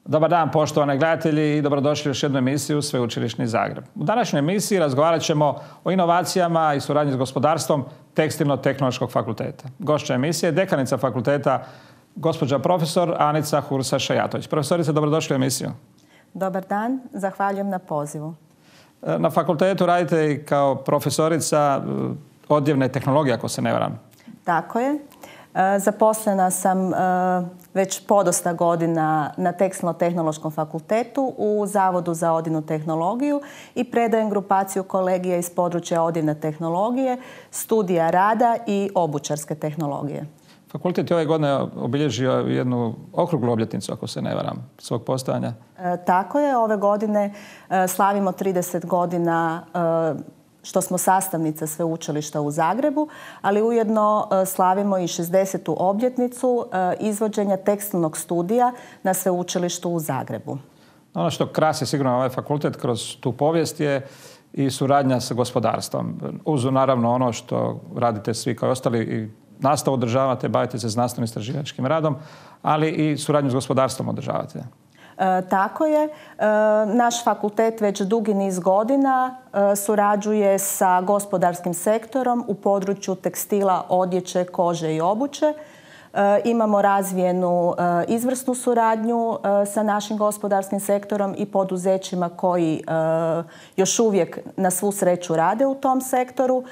Dobar dan, poštovani gledatelji, i dobrodošli u još jednu emisiju Sveučilišni Zagreb. U današnjoj emisiji razgovarat ćemo o inovacijama i suradnji s gospodarstvom Tekstilno-tehnološkog fakulteta. Gošća emisije je dekanica fakulteta, gospođa profesor Anica Hursa-Šajatović. Profesorice, dobrodošli u emisiju. Dobar dan, zahvaljujem na pozivu. Na fakultetu radite i kao profesorica odjevne tehnologije, ako se ne varam. Tako je. Zaposlena sam već podosta godina na Tekstilno-tehnološkom fakultetu u Zavodu za odjevnu tehnologiju i predajem grupaciju kolegija iz područja odjevne tehnologije, studija rada i obućarske tehnologije. Fakultet je ove godine obilježio jednu okruglu obljetnicu, ako se ne varam, svog postojanja. Tako je. Ove godine slavimo 30 godina što smo sastavnica Sveučilišta u Zagrebu, ali ujedno slavimo i 60. obljetnicu izvođenja tekstilnog studija na Sveučilištu u Zagrebu. Ono što krasi sigurno ovaj fakultet kroz tu povijest je i suradnja sa gospodarstvom. Uz naravno ono što radite svi kao ostali i nastavu održavate, bavite se znanstveno-istraživačkim radom, ali i suradnju s gospodarstvom održavate. Tako je. Naš fakultet već dugi niz godina surađuje sa gospodarskim sektorom u području tekstila, odjeće, kože i obuće. Imamo razvijenu izvrsnu suradnju sa našim gospodarskim sektorom i poduzećima koji još uvijek na svu sreću rade u tom sektoru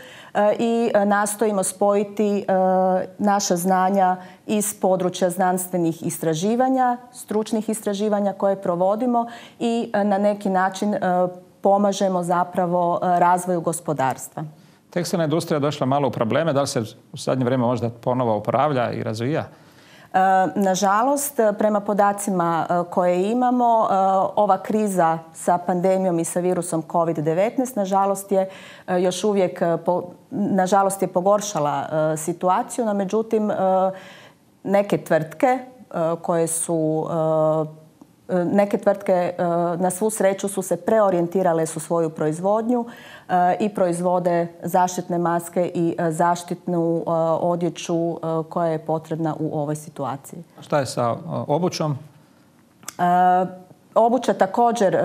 i nastojimo spojiti naša znanja iz područja znanstvenih istraživanja, stručnih istraživanja koje provodimo i na neki način pomažemo zapravo razvoju gospodarstva. Tekstilna industrija je došla malo u probleme. Da li se u zadnje vrijeme možda ponovo oporavlja i razvija? Nažalost, prema podacima koje imamo, ova kriza sa pandemijom i sa virusom COVID-19 nažalost je pogoršala situaciju, no međutim neke tvrtke na svu sreću su se preorijentirale su svoju proizvodnju i proizvode zaštitne maske i zaštitnu odjeću koja je potrebna u ovoj situaciji. Šta je sa obućom? Obuća također,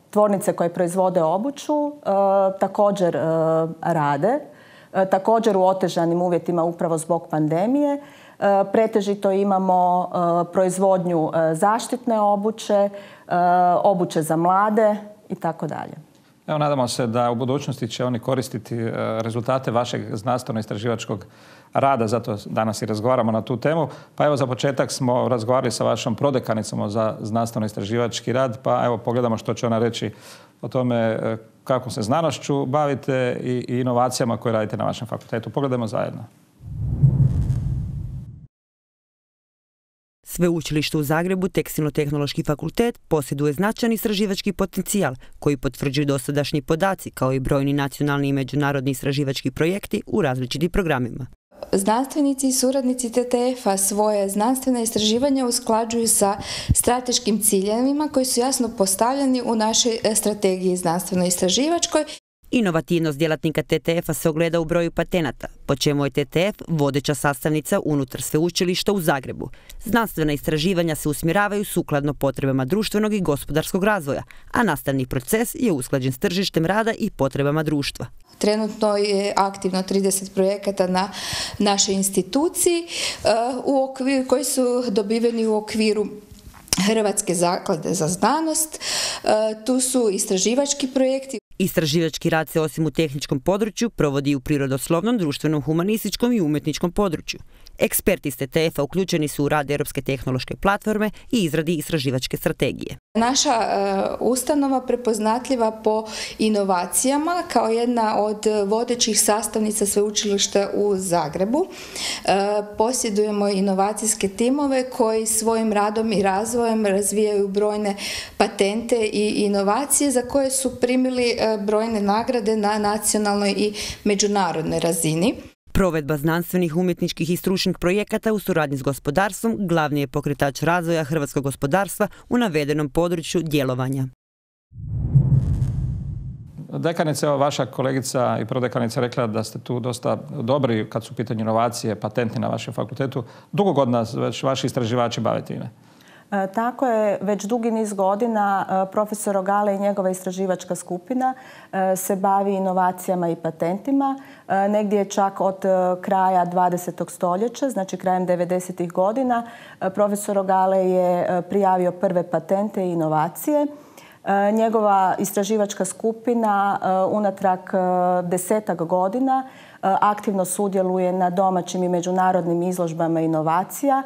tvornice koje proizvode obuću također rade. Također u otežanim uvjetima upravo zbog pandemije. Pretežito imamo proizvodnju zaštitne obuće, obuće za mlade i tako dalje. Evo, nadamo se da u budućnosti će oni koristiti rezultate vašeg znanstveno-istraživačkog rada, zato danas i razgovaramo na tu temu. Pa evo, za početak smo razgovarali sa vašom prodekanicom za znanstveno-istraživački rad, pa evo pogledamo što će ona reći o tome kako se znanošću bavite i inovacijama koje radite na vašem fakultetu. Pogledajmo zajedno. Sveučilište u Zagrebu, Tekstilno-tehnološki fakultet, posjeduje značajan istraživački potencijal koji potvrđuju dosadašnji podaci kao i brojni nacionalni i međunarodni istraživački projekti u različitim programima. Znanstvenici i suradnici TTF-a svoje znanstvene istraživanja usklađuju sa strateškim ciljevima koji su jasno postavljeni u našoj strategiji znanstveno-istraživačkoj. Inovativnost djelatnika TTF-a se ogleda u broju patenata, po čemu je TTF vodeća sastavnica unutar Sveučilišta u Zagrebu. Znanstvena istraživanja se usmjeravaju sukladno potrebama društvenog i gospodarskog razvoja, a nastavni proces je usklađen s tržištem rada i potrebama društva. Trenutno je aktivno 30 projekata na našoj instituciji koji su dobiveni u okviru Hrvatske zaklade za znanost. Tu su istraživački projekti. Istraživački rad se osim u tehničkom području provodi u prirodoslovnom, društvenom, humanističkom i umjetničkom području. Eksperti iz TTF-a uključeni su u rad Europske tehnološke platforme i izradi istraživačke strategije. Naša ustanova prepoznatljiva po inovacijama kao jedna od vodećih sastavnica Sveučilišta u Zagrebu. Posjedujemo inovacijske timove koji svojim radom i razvojem razvijaju brojne patente i inovacije za koje su primili brojne nagrade na nacionalnoj i međunarodnoj razini. Provedba znanstvenih, umjetničkih i stručnih projekata u suradnji s gospodarstvom glavni je pokretač razvoja hrvatskog gospodarstva u navedenom području djelovanja. Dekanica, vaša kolegica i prodekanica rekla da ste tu dosta dobri kad su u pitanju inovacije, patenti na vašem fakultetu. Dugo godina već vaši istraživači bave time? Tako je, već dugi niz godina profesor Rogale i njegova istraživačka skupina se bavi inovacijama i patentima. Negdje čak od kraja 20. stoljeća, znači krajem 90. godina, profesor Rogale je prijavio prve patente i inovacije. Njegova istraživačka skupina unatrag 10-ak godina aktivno sudjeluje na domaćim i međunarodnim izložbama inovacija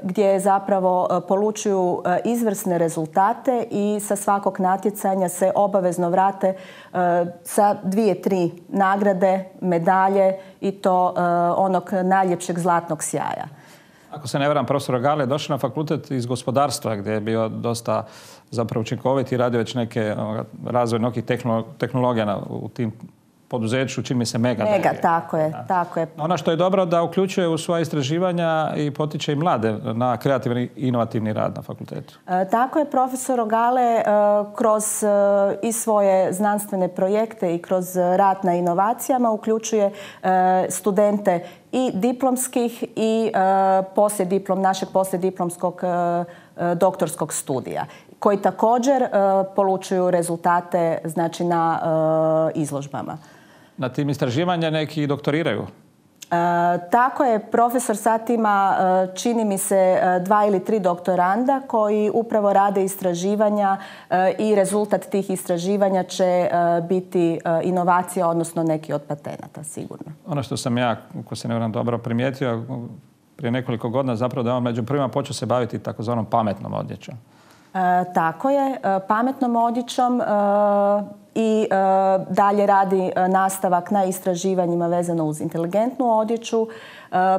gdje zapravo polučuju izvrsne rezultate i sa svakog natjecanja se obavezno vrate sa 2-3 nagrade, medalje i to onog najljepšeg zlatnog sjaja. Ako se ne varam, profesor Rogale je došao na fakultet iz gospodarstva gdje je bio dosta zapravo učinkovit i radio već neke razvoj nekih tehnologija u tim poduzeću, čini mi se Mega. Mega, tako je. Ono što je dobro da uključuje u svoja istraživanja i potiče i mlade na kreativni i inovativni rad na fakultetu. Tako je, profesor Rogale kroz i svoje znanstvene projekte i kroz rad na inovacijama uključuje studente i diplomskih i našeg poslijediplomskog doktorskog studija, koji također polučuju rezultate znači na izložbama. Na tim istraživanja neki doktoriraju? Tako je, profesor sad ima, čini mi se, 2 ili 3 doktoranda koji upravo rade istraživanja i rezultat tih istraživanja će biti inovacija, odnosno neki od patenata, sigurno. Ono što sam ja, ako se ne varam, dobro primijetio, prije nekoliko godina zapravo da on među prvima počeo se baviti takozvanom pametnom odjećom. Tako je, pametnom odjećom i dalje radi nastavak na istraživanjima vezano uz inteligentnu odjeću.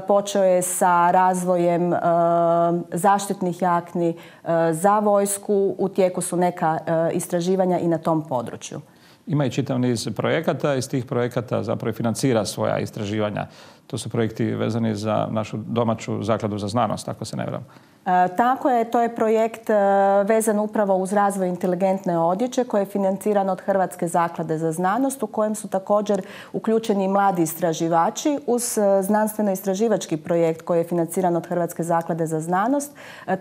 Počeo je sa razvojem zaštitnih jakni za vojsku. U tijeku su neka istraživanja i na tom području. Ima i čitav niz projekata. Iz tih projekata zapravo financira svoja istraživanja. To su projekti vezani za našu domaću zakladu za znanost, ako se ne varam. Tako je, to je projekt vezan upravo uz razvoj inteligentne odjeće koji je financiran od Hrvatske zaklade za znanost, u kojem su također uključeni mladi istraživači uz znanstveno-istraživački projekt koji je financiran od Hrvatske zaklade za znanost.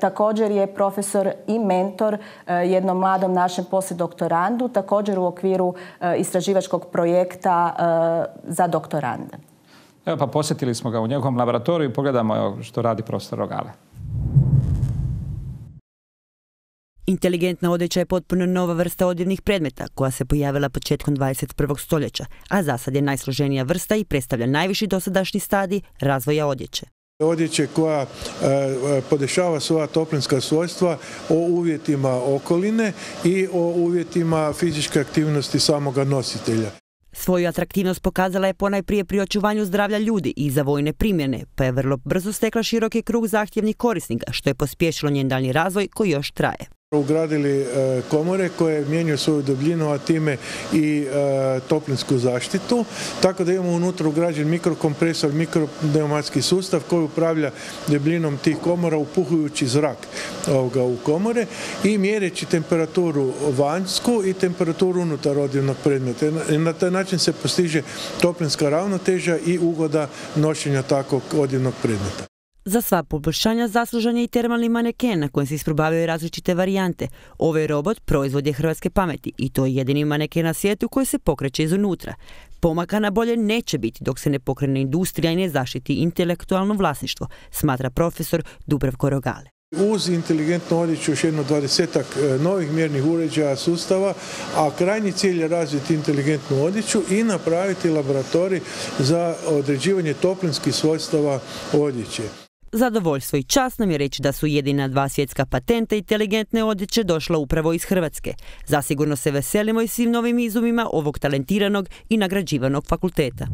Također je profesor i mentor jednom mladom našem poslijedoktorandu, također u okviru istraživačkog projekta za doktorande. Evo pa posjetili smo ga u njegovom laboratoriju i pogledamo što radi profesor Rogale. Inteligentna odjeća je potpuno nova vrsta odjevnih predmeta koja se pojavila početkom 21. stoljeća, a za sad je najsloženija vrsta i predstavlja najviši dosadašnji stadij razvoja odjeće. Odjeće koja podešava svoja toplinska svojstva o uvjetima okoline i o uvjetima fizičke aktivnosti samoga nositelja. Svoju atraktivnost pokazala je ponajprije pri očuvanju zdravlja ljudi i za vojne primjene, pa je vrlo brzo stekla široki krug zahtjevnih korisnika, što je pospješilo njen daljnji razvoj koji još traje. Ugradili komore koje mijenjaju svoju debljinu, a time i toplinsku zaštitu, tako da imamo unutra ugrađen mikrokompresor, mikropneumatski sustav koji upravlja debljinom tih komora upuhujući zrak u komore i mjereći temperaturu vanjsku i temperaturu unutar odjevnog predmeta. I na taj način se postiže toplinska ravnoteža i ugoda nošenja takvog odjevnog predmeta. Za sva poboljšanja zaslužan je i termalni maneken na kojem se isprobavaju različite varijante. Ovaj robot proizvod je hrvatske pameti i to je jedini maneken na svijetu koji se pokreće izunutra. Pomaka na bolje neće biti dok se ne pokrene industrija i ne zaštiti intelektualno vlasništvo, smatra profesor Dubravko Rogale. Uz inteligentnu odjeću još jedno 20-ak novih mjernih uređaja sustava, a krajnji cilj je razviti inteligentnu odjeću i napraviti laboratorij za određivanje toplinskih svojstava odjeće. Zadovoljstvo i čast nam je reći da su jedina 2 svjetska patenta inteligentne odjeće došla upravo iz Hrvatske. Zasigurno se veselimo i svim novim izumima ovog talentiranog i nagrađivanog fakulteta.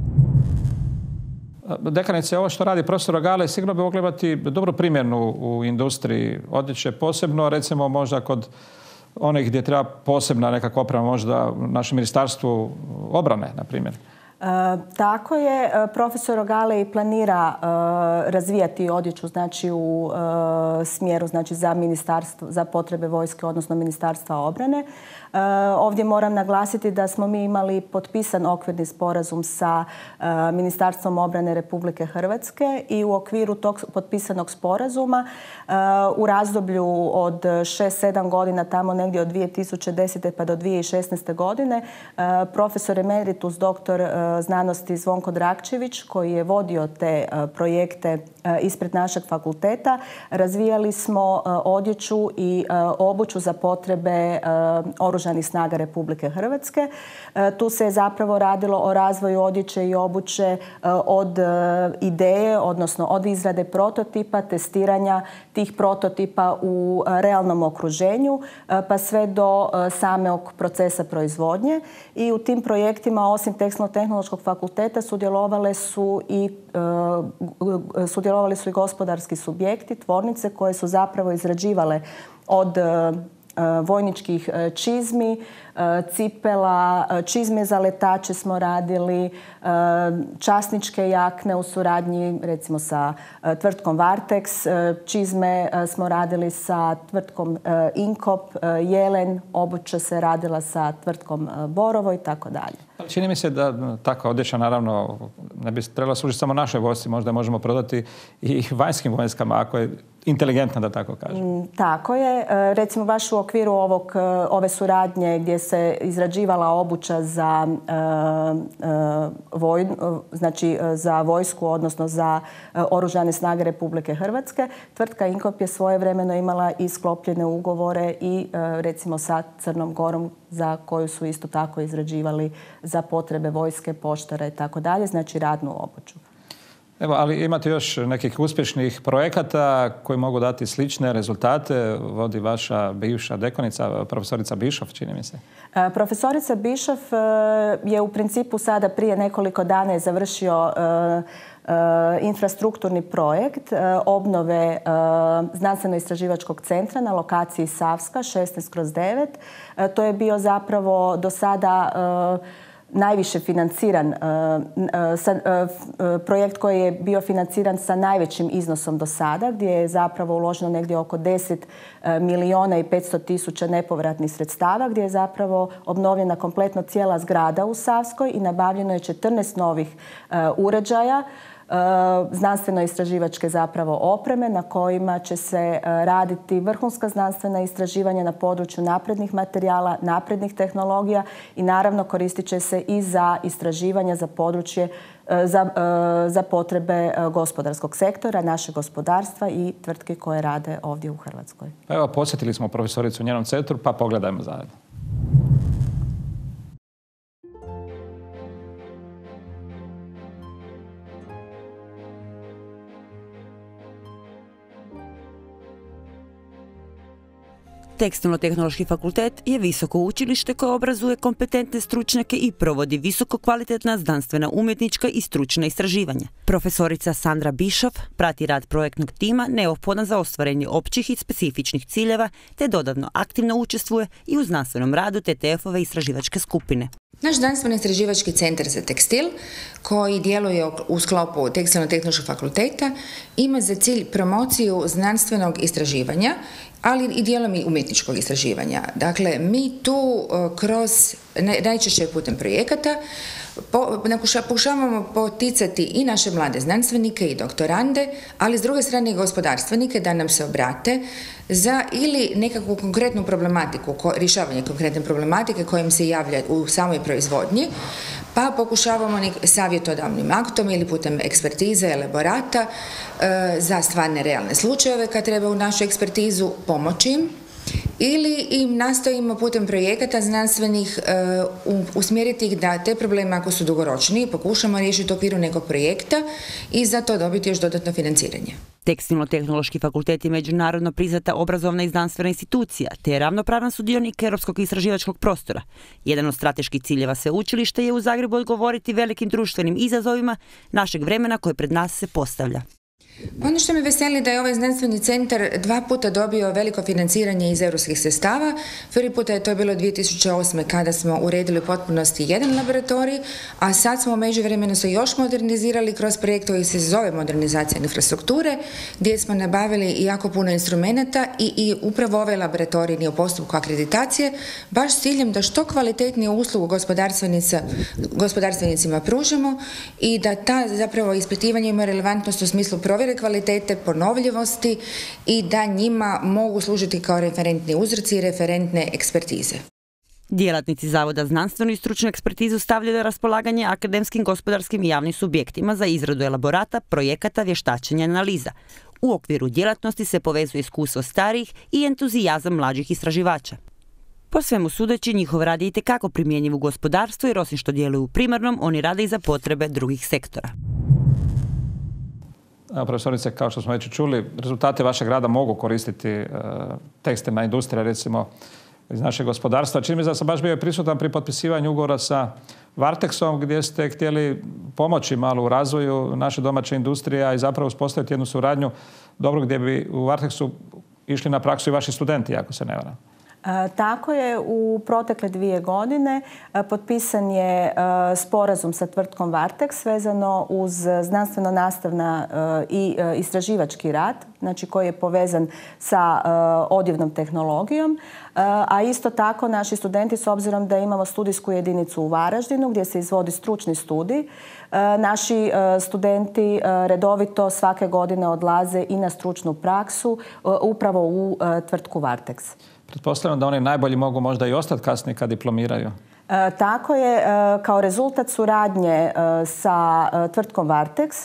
Dekanice, ovo što radi profesor Rogale sigurno bi mogli imati dobru primjenu u industriji odjeće, posebno recimo možda kod onih gdje treba posebna nekakva oprema, možda u našem ministarstvu obrane, na primjer. Tako je. Profesor Ogalej planira razvijati odjeću znači, u smjeru znači, za potrebe vojske, odnosno Ministarstva obrane. Ovdje moram naglasiti da smo mi imali potpisan okvirni sporazum sa Ministarstvom obrane Republike Hrvatske i u okviru tog potpisanog sporazuma u razdoblju od 6-7 godina, tamo negdje od 2010. pa do 2016. godine, profesor emeritus doktor znanosti Zvonko Drakčević, koji je vodio te projekte ispred našeg fakulteta, razvijali smo odjeću i obuću za potrebe Oružanih snaga Republike Hrvatske. Tu se je zapravo radilo o razvoju odjeće i obuće od ideje, odnosno od izrade prototipa, testiranja tih prototipa u realnom okruženju, pa sve do samog procesa proizvodnje. I u tim projektima, osim Tekstilno-tehnološkog fakulteta, sudjelovali su i gospodarski subjekti, tvornice koje su zapravo izrađivale od vojničkih čizmi, cipela, čizme za letače smo radili, časničke jakne u suradnji recimo sa tvrtkom Vartex, čizme smo radili sa tvrtkom Inkop, Jelen, obuća se radila sa tvrtkom Borovo i tako dalje. Čini mi se da takva odjeća naravno ne bi trebala služiti samo našoj vojsci, možda možemo prodati i vanjskim vojskama ako je inteligentna, da tako kažem. Tako je. Recimo baš u okviru ove suradnje gdje se izrađivala obuća za za vojsku, odnosno za Oružane snage Republike Hrvatske, tvrtka Inkop je svojevremeno imala i sklopljene ugovore i recimo sa Crnom Gorom, za koju su isto tako izrađivali za potrebe vojske, poštara i tako dalje, znači radnu obuću. Evo, ali imate još nekih uspješnih projekata koji mogu dati slične rezultate, vodi vaša bivša dekonica, profesorica Bišov, čini mi se. Profesorica Bišov je u principu sada prije nekoliko dana je završio infrastrukturni projekt obnove znanstveno-istraživačkog centra na lokaciji Savska 16/9. To je bio zapravo do sada najviše financiran projekt koji je bio financiran sa najvećim iznosom do sada, gdje je zapravo uloženo negdje oko 10 milijuna i 500 tisuća nepovratnih sredstava, gdje je zapravo obnovljena kompletno cijela zgrada u Savskoj i nabavljeno je 14 novih uređaja, znanstveno-istraživačke zapravo opreme na kojima će se raditi vrhunska znanstvena istraživanja na području naprednih materijala, naprednih tehnologija i naravno koristit će se i za istraživanja za područje za potrebe gospodarskog sektora, našeg gospodarstva i tvrtke koje rade ovdje u Hrvatskoj. Evo, posjetili smo profesoricu u njenom centru, pa pogledajmo zajedno. Tekstilno-tehnološki fakultet je visoko učilište koje obrazuje kompetentne stručnjake i provodi visoko kvalitetna znanstvena, umjetnička i stručna istraživanja. Profesorica Sandra Bišov prati rad projektnog tima neophodan za ostvarenje općih i specifičnih ciljeva, te dodatno aktivno učestvuje i u znanstvenom radu TTF-ove istraživačke skupine. Naš znanstveno-istraživački centar za tekstil, koji djeluje u sklopu Tekstilno-tehnološkog fakulteta, ima za cilj promociju znanstvenog istraživanja, ali i dijelom i umjetničkog istraživanja. Dakle, mi tu kroz, najčešće putem projekata, pokušavamo poticati i naše mlade znanstvenike i doktorande, ali s druge strane i gospodarstvenike da nam se obrate za ili nekakvu konkretnu problematiku, rješavanje konkretne problematike kojim se javlja u samoj proizvodnji, pa pokušavamo savjetodavnim aktom ili putem ekspertize, elaborata za stvarne realne slučajeve kad treba u našu ekspertizu pomoći im, ili im nastojimo putem projekata znanstvenih usmjeriti ih da te probleme, ako su dugoročniji, pokušamo riješiti u okviru nekog projekta i za to dobiti još dodatno financiranje. Tekstilno-tehnološki fakultet je međunarodno priznata obrazovna i znanstvena institucija, te je ravnopravan sudionik europskog istraživačkog prostora. Jedan od strateških ciljeva sveučilišta je u Zagrebu odgovoriti velikim društvenim izazovima našeg vremena koje pred nas se postavlja. Ono što me veseli da je ovaj znanstveni centar 2 puta dobio veliko financiranje iz europskih sredstava. Prvi puta je to bilo 2008. kada smo uredili u potpunosti jedan laboratorij, a sad smo u međuvremenu se još modernizirali kroz projekt koji se zove modernizacija infrastrukture, gdje smo nabavili jako puno instrumenata i upravo ovaj laboratorij je u postupku akreditacije, baš s ciljem da što kvalitetniju uslugu gospodarstvenicima pružimo i da ta zapravo ispitivanje ima relevantnost u smislu provjere kvalitete, ponovljivosti i da njima mogu služiti kao referentni uzorci i referentne ekspertize. Djelatnici Zavoda znanstvenu i stručnu ekspertizu stavljaju na raspolaganje akademskim, gospodarskim i javnim subjektima za izradu elaborata, projekata, vještačenja i analiza. U okviru djelatnosti se povezuje iskustvo starijih i entuzijazam mlađih istraživača. Po svemu sudeći, njihov rad je itekako primjenjiv u gospodarstvu jer osim što djeluju u primarnom, oni rade i za potrebe drugih sektora. Profesorice, kao što smo već čuli, rezultate vašeg rada mogu koristiti tekstilna industrija, recimo, iz našeg gospodarstva. Čini mi se da sam baš bio prisutan pri potpisivanju ugovora sa Varteksom, gdje ste htjeli pomoći malo u razvoju naše domaće industrije, a i zapravo uspostaviti jednu suradnju dobro gdje bi u Varteksu išli na praksu i vaši studenti, ako se ne varam. Tako je, u protekle 2 godine potpisan je sporazum sa tvrtkom Varteks vezano uz znanstveno-nastavna i istraživački rad, znači koji je povezan sa odjevnom tehnologijom, a isto tako naši studenti, s obzirom da imamo studijsku jedinicu u Varaždinu gdje se izvodi stručni studij, naši studenti redovito svake godine odlaze i na stručnu praksu upravo u tvrtku Varteks. Pretpostavljam da oni najbolji mogu možda i ostati kasnije kad diplomiraju. Tako je, kao rezultat suradnje sa tvrtkom Varteks.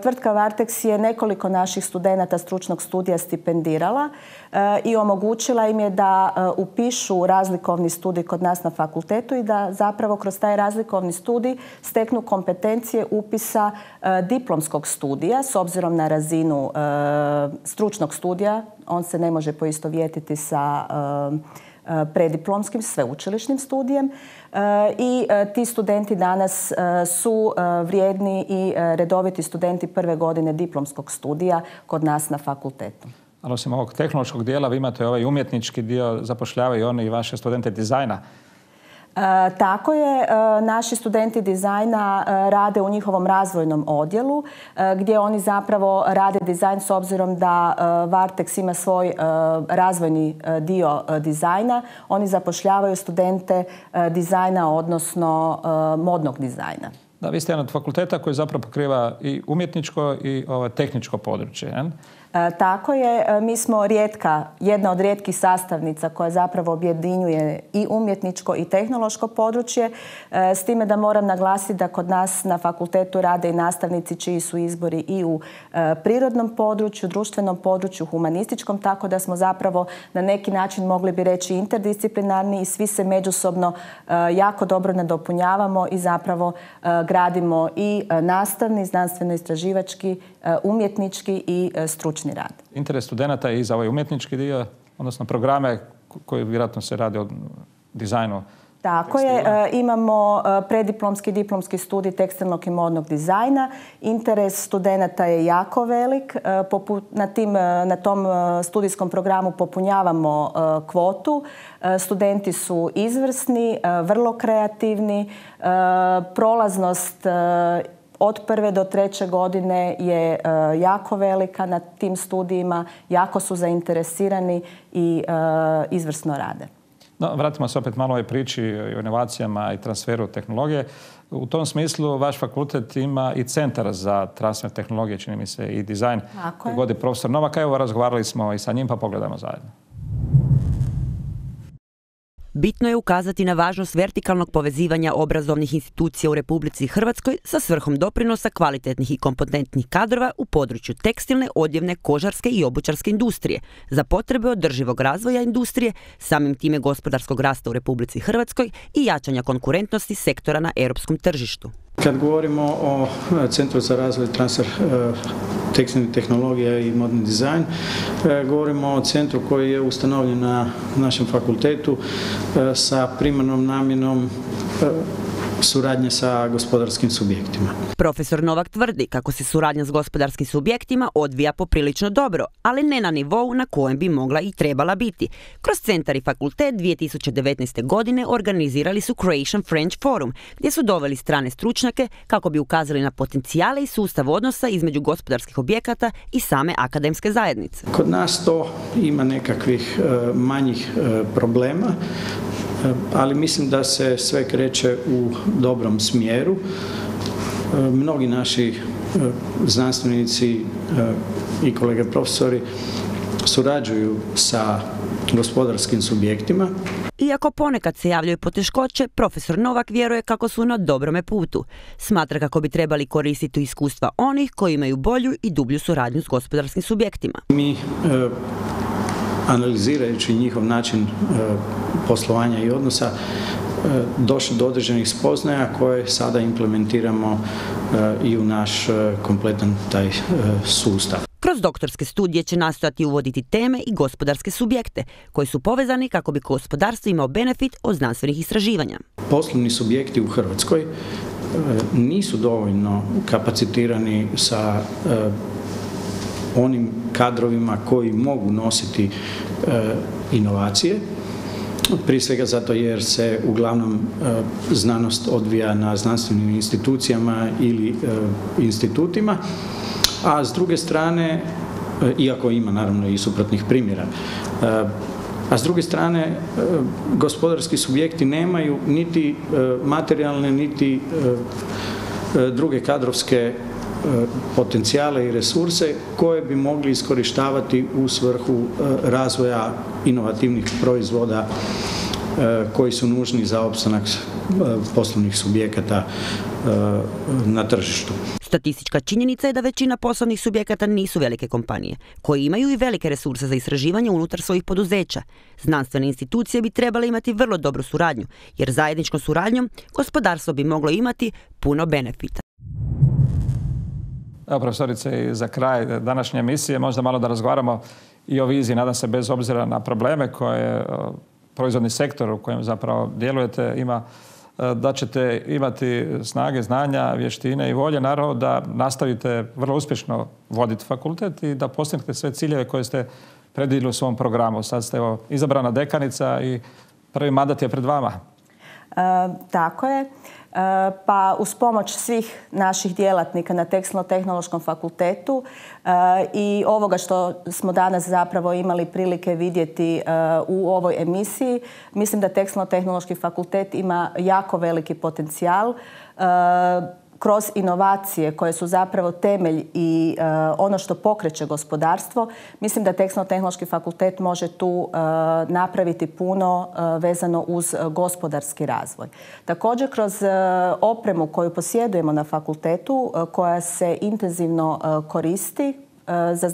Tvrtka Varteks je nekoliko naših studenata stručnog studija stipendirala i omogućila im je da upišu razlikovni studij kod nas na fakultetu i da zapravo kroz taj razlikovni studij steknu kompetencije upisa diplomskog studija s obzirom na razinu stručnog studija. On se ne može poistovjetiti sa prediplomskim sveučilišnim studijem i ti studenti danas su vrijedni i redoviti studenti prve godine diplomskog studija kod nas na fakultetu. Ali osim ovog tehnološkog dijela, vi imate ovaj umjetnički dio, zapošljavaju oni i vaše studente dizajna. Tako je, naši studenti dizajna rade u njihovom razvojnom odjelu gdje oni zapravo rade dizajn s obzirom da Varteks ima svoj razvojni dio dizajna. Oni zapošljavaju studente dizajna, odnosno modnog dizajna. Da, vi ste jedan od fakulteta koji zapravo pokriva i umjetničko i tehničko područje. Je? Tako je, mi smo jedna od rijetkih sastavnica koja zapravo objedinjuje i umjetničko i tehnološko područje, s time da moram naglasiti da kod nas na fakultetu rade i nastavnici čiji su izbori i u prirodnom području, društvenom području, humanističkom, tako da smo zapravo na neki način mogli bi reći interdisciplinarni i svi se međusobno jako dobro nadopunjavamo i zapravo gradimo i nastavni, znanstveno-istraživački, umjetnički i stručni rad. Interes studenata je i za ovaj umjetnički dio, odnosno programe koji vjerojatno se rade o dizajnu. Tako je, imamo prediplomski i diplomski studij tekstilnog i modnog dizajna. Interes studenata je jako velik. Na tom studijskom programu popunjavamo kvotu. Studenti su izvrsni, vrlo kreativni. Prolaznost od 1. do 3. godine je jako velika na tim studijima, jako su zainteresirani i izvrsno rade. No, vratimo se opet malo ovoj priči o inovacijama i transferu tehnologije. U tom smislu vaš fakultet ima i centar za transfer tehnologije, čini mi se, i dizajn koji vodi profesor Novak. Evo, razgovarali smo i sa njim, pa pogledamo zajedno. Bitno je ukazati na važnost vertikalnog povezivanja obrazovnih institucija u Republici Hrvatskoj sa svrhom doprinosa kvalitetnih i kompetentnih kadrova u području tekstilne, odjevne, kožarske i obućarske industrije za potrebe održivog razvoja industrije, samim time gospodarskog rasta u Republici Hrvatskoj i jačanja konkurentnosti sektora na europskom tržištu. Kad govorimo o Centru za razvoj i transfer tekstilnih tehnologija i modni dizajn, govorimo o centru koji je ustanovljen na našem fakultetu sa primarnom namjenom suradnje sa gospodarskim subjektima. Profesor Novak tvrdi kako se suradnja s gospodarskim subjektima odvija poprilično dobro, ali ne na nivou na kojem bi mogla i trebala biti. Kroz centar i fakultet 2019. godine organizirali su Croatian French Forum, gdje su doveli strane stručnjake kako bi ukazali na potencijale i sustav odnosa između gospodarskih objekata i same akademske zajednice. Kod nas to ima nekakvih manjih problema, ali mislim da se sve kreće u dobrom smjeru. Mnogi naši znanstvenici i kolege profesori surađuju sa gospodarskim subjektima. Iako ponekad se javljaju poteškoće, profesor Novak vjeruje kako su na dobrome putu. Smatra kako bi trebali koristiti iskustva onih koji imaju bolju i dublju suradnju s gospodarskim subjektima. Mi, analizirajući njihov način poslovanja i odnosa, došli do određenih spoznaja koje sada implementiramo i u naš kompletan taj sustav. Kroz doktorske studije će nastojati uvoditi teme i gospodarske subjekte koji su povezani kako bi gospodarstvo imao benefit od znanstvenih istraživanja. Poslovni subjekti u Hrvatskoj nisu dovoljno kapacitirani sa onim kadrovima koji mogu nositi inovacije. Prije svega zato jer se uglavnom znanost odvija na znanstvenim institucijama ili institutima, a s druge strane, iako ima naravno i suprotnih primjera, a s druge strane gospodarski subjekti nemaju niti materijalne niti druge kadrovske potencijale i resurse koje bi mogli iskorištavati u svrhu razvoja inovativnih proizvoda koji su nužni za opstanak poslovnih subjekata na tržištu. Statistička činjenica je da većina poslovnih subjekata nisu velike kompanije, koji imaju i velike resurse za istraživanje unutar svojih poduzeća. Znanstvene institucije bi trebale imati vrlo dobru suradnju, jer zajedničkom suradnjom gospodarstvo bi moglo imati puno benefita. Evo, profesorice, i za kraj današnje emisije možda malo da razgovaramo i o viziji, nadam se bez obzira na probleme koje proizvodni sektor u kojem zapravo djelujete ima, da ćete imati snage, znanja, vještine i volje, naravno da nastavite vrlo uspješno voditi fakultet i da postignete sve ciljeve koje ste predvidjeli u svom programu. Sad ste izabrana dekanica i prvi mandat je pred vama. Tako je. Pa uz pomoć svih naših djelatnika na Tekstilno-tehnološkom fakultetu i ovoga što smo danas zapravo imali prilike vidjeti u ovoj emisiji, mislim da Tekstilno-tehnološki fakultet ima jako veliki potencijal kroz inovacije koje su zapravo temelj i ono što pokreće gospodarstvo. Mislim da Tekstilno-tehnološki fakultet može tu napraviti puno vezano uz gospodarski razvoj. Također kroz opremu koju posjedujemo na fakultetu, koja se intenzivno koristi za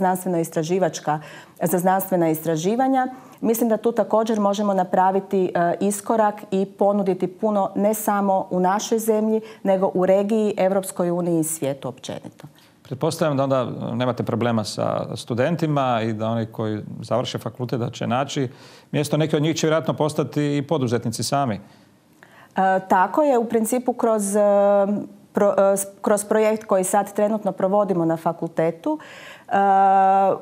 znanstvena istraživanja, mislim da tu također možemo napraviti iskorak i ponuditi puno ne samo u našoj zemlji, nego u regiji, Europskoj uniji i svijetu općenito. Pretpostavljam da onda nemate problema sa studentima i da oni koji završe fakultet da će naći mjesto. Neki od njih će vjerojatno postati i poduzetnici sami. Tako je, u principu kroz projekt koji sad trenutno provodimo na fakultetu.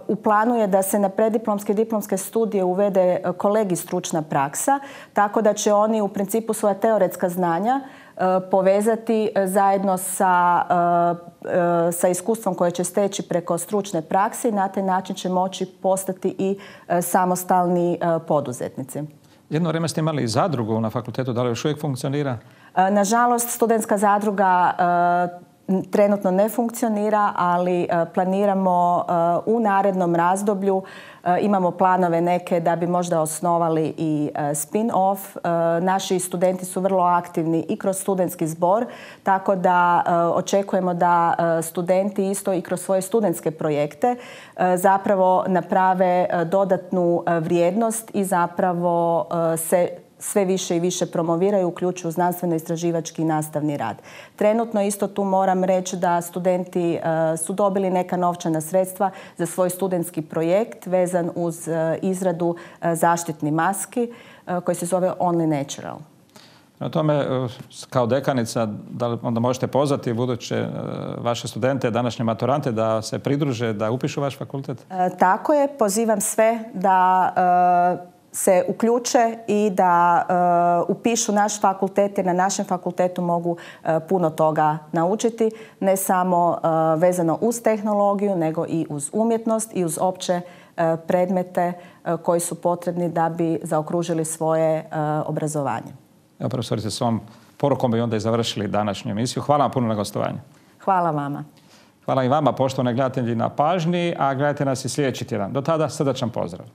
U planu je da se na preddiplomske i diplomske studije uvede kolegij stručna praksa, tako da će oni u principu svoja teoretska znanja povezati zajedno sa iskustvom koje će steći preko stručne prakse i na taj način će moći postati i samostalni poduzetnici. Jedno vrijeme ste imali i zadrugu na fakultetu, da li još uvijek funkcionira? Nažalost, studentska zadruga trenutno ne funkcionira, ali planiramo u narednom razdoblju, imamo planove neke da bi možda osnovali i spin-off. Naši studenti su vrlo aktivni i kroz studentski zbor, tako da očekujemo da studenti isto i kroz svoje studentske projekte zapravo naprave dodatnu vrijednost i zapravo se sve više i više promoviraju, uključuju znanstveno-istraživački i nastavni rad. Trenutno isto tu moram reći da studenti su dobili neka novčana sredstva za svoj studentski projekt vezan uz izradu zaštitnih maski koji se zove Only Natural. Na tome, kao dekanica, da onda možete pozvati buduće vaše studente, današnje maturante, da se pridruže, da upišu vaš fakultet? Tako je. Pozivam sve da se uključe i da upišu naš fakultet, jer na našem fakultetu mogu puno toga naučiti, ne samo vezano uz tehnologiju, nego i uz umjetnost i uz opće predmete koji su potrebni da bi zaokružili svoje obrazovanje. Evo, profesorice, s ovom porukom bi onda i završili današnju emisiju. Hvala vam puno na gostovanju. Hvala vama. Hvala i vama, poštovani gledatelji, na pažnji, a gledajte nas i sljedeći tjedan. Do tada, srdačan pozdrav.